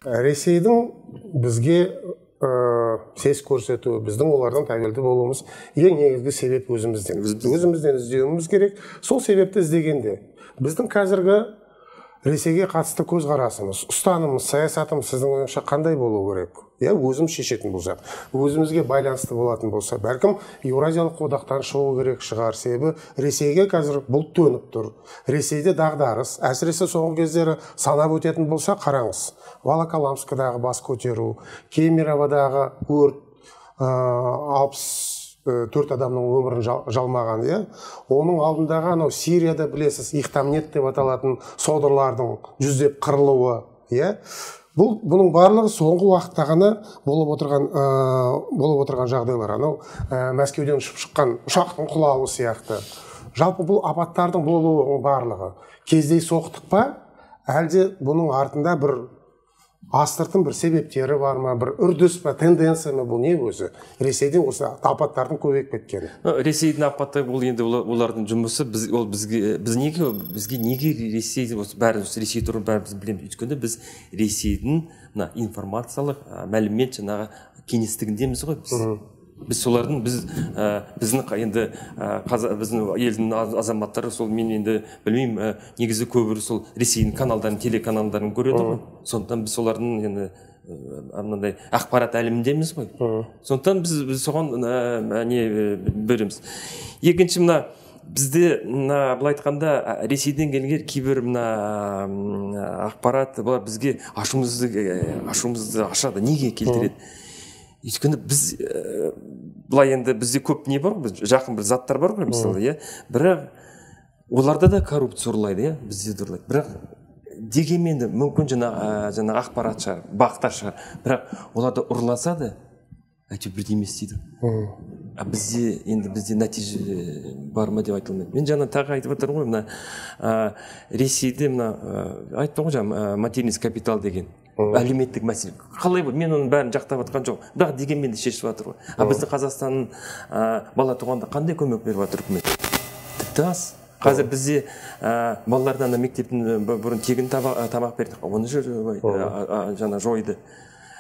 Ресейдің бізге сес көрсету, біздің олардан тәуелді болуымыз ең негізгі себеп өзімізден іздеуіміз керек. Сол себепті іздегенде біздің қазіргі Ресейге қатысты көзқарасымыз, ұстанымыз, саясатымыз сіздің ойыңызша қандай болу керек? Өзім шешетін болсақ, өзімізге байланысты болатын болса, бәлкім Еуразиялық одақтан шығу керек шығар. Себебі Ресейге қазір бұлт төніп тұр. Ресейде дағдарыс, әсіресе соңғы кездері санап өтетін болса, қараңыз. Волоколамскідағы бас көтеру, Кемероводағы өрт, 64 адамның өмірін жалмаған, оның алдындағы анау Сирияда білесіз, Ихтамнет деп аталатын содырлардың жүздеп қырылуы, бұның барлығы соңғы уақытта ғана болып отырған жағдайлар. Анау Мәскеуден ұшып шыққан ұшақтың құлауы сияқты. Жалпы бұл апаттардың болуының барлығы кездей соқтық па, әлде бұның артында бір астыртын бір себептері бар ма, бір үрдіс па, тенденция ма, бұл не өзі? Ресейден осы апаттардың көбейіп кеткені. Ресейдің апаты бұл енді олардың жұмысы, бізге неге Ресей, бәріміз Ресей туралы бәріміз білеміз. Өйткені біз Ресейдің информациялық мәлімет жаңағы кеңістігіндеміз ғой біз. Біз солардың, біздің енді біздің елдің азаматтары, сол мен енді білмеймін, негізі көбірі сол Ресейдің каналдарын, телеканалдарын көреді ғой. Сондықтан біз солардың енді анандай ақпарат әлеміндеміз ғой. Сондықтан біз соған не береміз. Екінші бізде былай айтқанда Ресейден келген кейбір ақпарат бұлар бізге ашуымызды ашады. Неге келтіреді? Өйткені біз былай енді бізде көп не бар ғой, жақын бір заттар бар ғой, мысалы, бірақ оларда да коррупция ұрлайды, бізде де ұрлайды. Бірақ дегенмен де мүмкін жаңа ақпарат шығар, бақтар шығар, бірақ оларда ұрласа да әйтеуір бірдей емес дейді. Бізде нәтиже бар ма деп айтылмайды. Мен жаңа тағы айтып отырмын ғой, Ресейде айттым ғой жаңа материнский капитал деген әлеуметтік мәселе. Қалай бұл? Мен оның бәрін жақтап жатқан жоқ. Бірақ дегенмен де шешіп жатыр ғой. Біздің Қазақстанның бала туғанда қандай көмек беріп жатыр үкімет? Тіпті аз. Қазір бізде балалардан мектептің бұрын тегін тамақ берді. Оны жаңа жойды.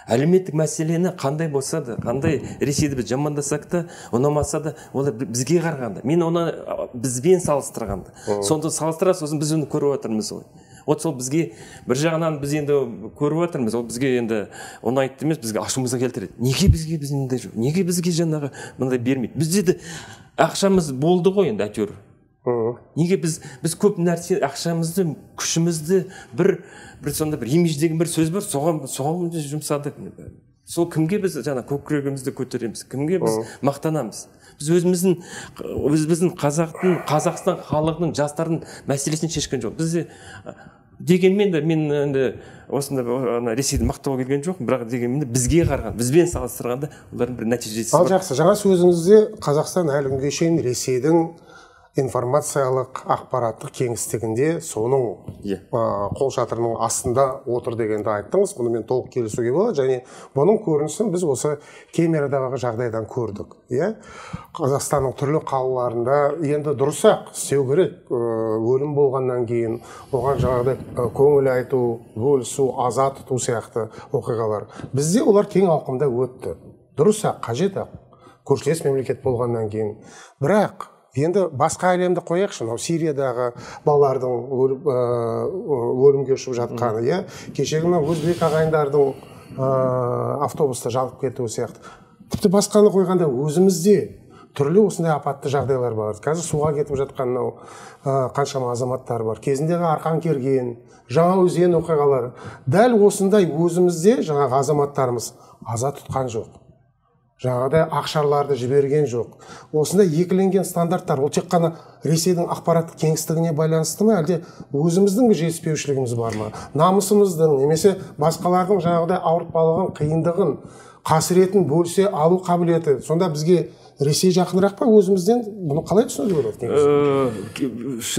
Әлеуметтік мәселені қандай болса да, қандай Ресейді біз жамандасақ та, ұнамаса да, олар бізге қарағанда. Мен оны бізбен салыстырғанда. Сонда салыстыра, сосын біз оны көріп отырмыз ғой. Сол бізге бір жағынан біз енді көріп отырмыз, ол бізге енді ұнайды емес, бізге ашуымызға келтіреді. Неге бізге мындай жоқ? Неге бізге жаңағы мындай бермейді? Бізде де ақшамыз болды ғой енді әйтеуір. Неге біз көп нәрсе ақшамызды, күшімізді бір сонда бір имидж деген бір сөз бар, соған жұмсадық. Сол кімге біз жаңа көкірегімізді көтереміз, кімге біз мақтанамыз? Біз өзіміздің Қазақстан халқының жастардың мәселесін шешкен жоқ. Бізде дегенмен де мен енді осында Ресейді мақтауға келген жоқпын, бірақ дегенмен де бізге қараған, бізбен салыстырғанда олардың бір нәтижесі бар. Ал жақсы, жаңа сөзіңізде Қазақстан әлі күнге шейін Ресейдің информациялық ақпараттық кеңістігінде соның қол шатырының астында отыр дегенді айттыңыз. Бұны мен толық келісуге болады, және бұның көрінісін біз осы Кемероводағы жағдайдан көрдік. Қазақстанның түрлі қалаларында енді дұрыс-ақ істеу керек. Өлім болғаннан кейін оған жаңағыдай көңіл айту, бөлісу, аза тұту сияқты оқиғалар. Бізде олар кең ауқымда өтті. Дұрыс-ақ, қажет-ақ, көршілес мемлекет болғаннан кейін. Бірақ енді басқа әлемді қояқшы, Сириядағы балалардың өлімге ұшып жатқаны, кешегі өзбек ағайындардың автобуста жанып кетуі сияқты. Тіпті басқаны қойғанда өзімізде түрлі осындай апатты жағдайлар бар. Қазір суға кетіп жатқан қаншама азаматтар бар. Кезіндегі Арқан керген, Жаңаөзен оқиғалары. Дәл осындай өзімізде жаңағы азаматтарымыз аза тұтқан жоқ. Жаңағыдай ақшарларды жіберген жоқ. Осындай екіленген стандарттар, ол тек қана Ресейдің ақпараттық кеңістігіне байланысты ма, әлде өзіміздің жетіспеушілігіміз бар ма? Намысымыздың, немесе басқалардың жаңағыдай ауыртпалығын, қиындығын, қасіретін бөлісе алу қабілеті сонда бізге Ресей жақынырақ па өзімізден? Бұны қалай түсінуге болады?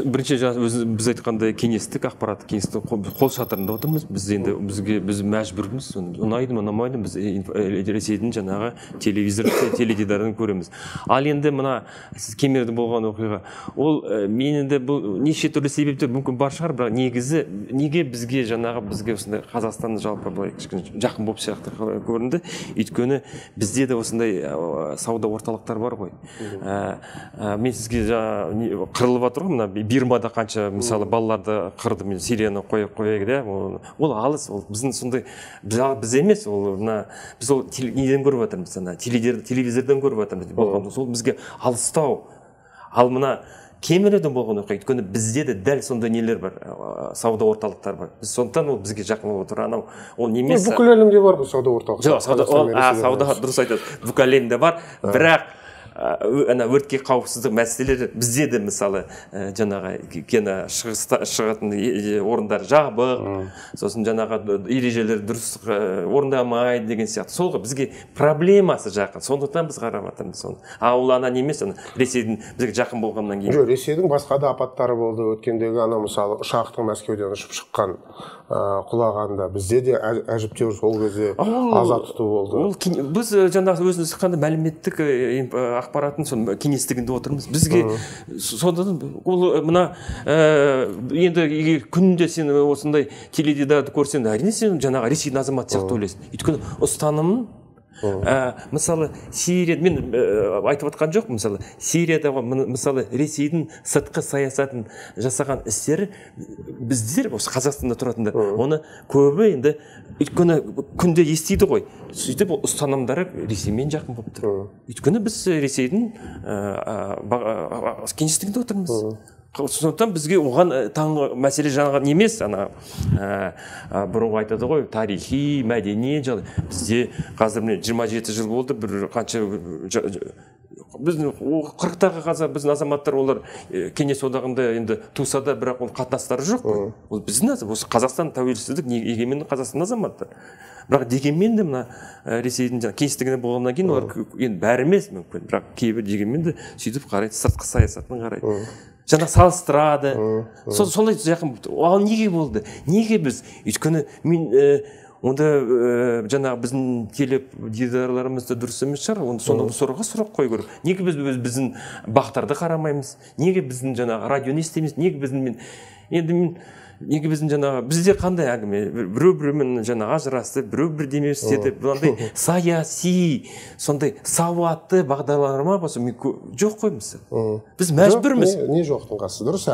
Бірінші біз айтқандай кеңестік ақпараттық кеңістік қол шатырында отырмыз. Біз мәжбүрміз. Ұнайды ма, ұнамайды ма, біз Ресейдің жаңағы теледидарын көреміз. Ал енді мына сіз Кемерде болған оқиға, ол мен енді бұл неше түрлі себептер мүмкін бар шығар, бірақ негізі неге бізге осындай Қазақстанды жалпы былай кішкене жақын болып сияқты көрінді. Өйткені бізде де осындай сауда орталықтар бар ғой. Мен сізге қырылып жатыр ғой, мына Бирмада қанша мысалы балаларды қырды, мен Сирияны қояйық да, ол алыс, ол біздің сондай біз емес, ол біз ол неден көріп жатырмыз, телевизордан көріп жатырмыз, сол бізге алыстау. Ал мына Кемерден болған оқиға, өйткені бізде де дәл сондай нелер бар, сауда орталықтар бар. Біз сондықтан ол бізге жақын болып отыр. Анау ол немес. Бүкіл әлемде бар бұл сауда орталықтары. Жоқ, сауда дұрыс айтады. Бүкіл әлемде бар, бірақ өртке қауіпсіздік мәселелері бізде де мысалы жаңағы шығатын орындар жабық, сосын жаңағы ережелер дұрыс орындамайды деген сияқты. Солға бізге проблемасы жақын. Сондықтан біз қарап жатырмыз соны. Ал ана немес, Ресейдің бізге жақын болғаннан кейін. Жоқ, Ресейдің басқа да апаттары болды. Өткендегі мысалы ұшақтың Мәскеуден ұшып шыққан құлағанда бізде де әжептәуір сол кезде аза тұту болды. Біз жаңағы өзіміз қандай мәліметтік ақпаратын сон кеңістігінде отырмыз. Бізге содан ол мына енді күнде сен осындай теледидарды көрсең, әрине сен жаңағы Ресейдің азаматы сияқты ойлайсың. Өйткені ұстанымын мысалы Сирия, мен айтып отқан жоқ, мысалы Сириядағы мысалы Ресейдің сыртқы саясатын жасаған істері біздер осы Қазақстанда тұратындар оны көбі енді өйткені күнде естиді ғой, сөйтіп ұстанымдары Ресеймен жақын болып тұр. Өйткені біз Ресейдің кеңістігінде отырмыз. Сондықтан бізге оған таңғы мәселе жаңағы емес, бұрынғы айтады ғой, тарихи, мәдени жағдай. Бізде қазір 27 жыл болды, бір қанша біздің 40-тағы қазір біздің азаматтар, олар кеңес одағында енді туса да, бірақ ол қатынастары жоқ. Ол біздің осы Қазақстан тәуелсіздік, егеменді Қазақстан азаматтар. Бірақ дегенмен де мына Ресейдің кеңістігінде болғаннан кейін олар енді бәрі емес мүмкін, бірақ кейбір дегенмен де сөйтіп қарайды, сыртқы саясатын қарайды. Жаңа салыстырады. Солай жақын болды. Ал неге болды? Неге біз? Өйткені мен онда жаңағы біздің теледидарларымызда дұрыс емес шығар. Сонда сұрақ қою керек. Неге біздің бақтарды қарамаймыз? Неге біздің жаңағы радионы естиміз? Неге біздің жаңағы бізде қандай әңгіме? Біреу-біреумен жаңағы ажырасты, біреу бірдеме істеді. Бұндай саяси, сондай сауатты бағдарлама болса жоқ қой мысалы. Біз мәжбүрміз. Не жоқтың қасы, дұрыс.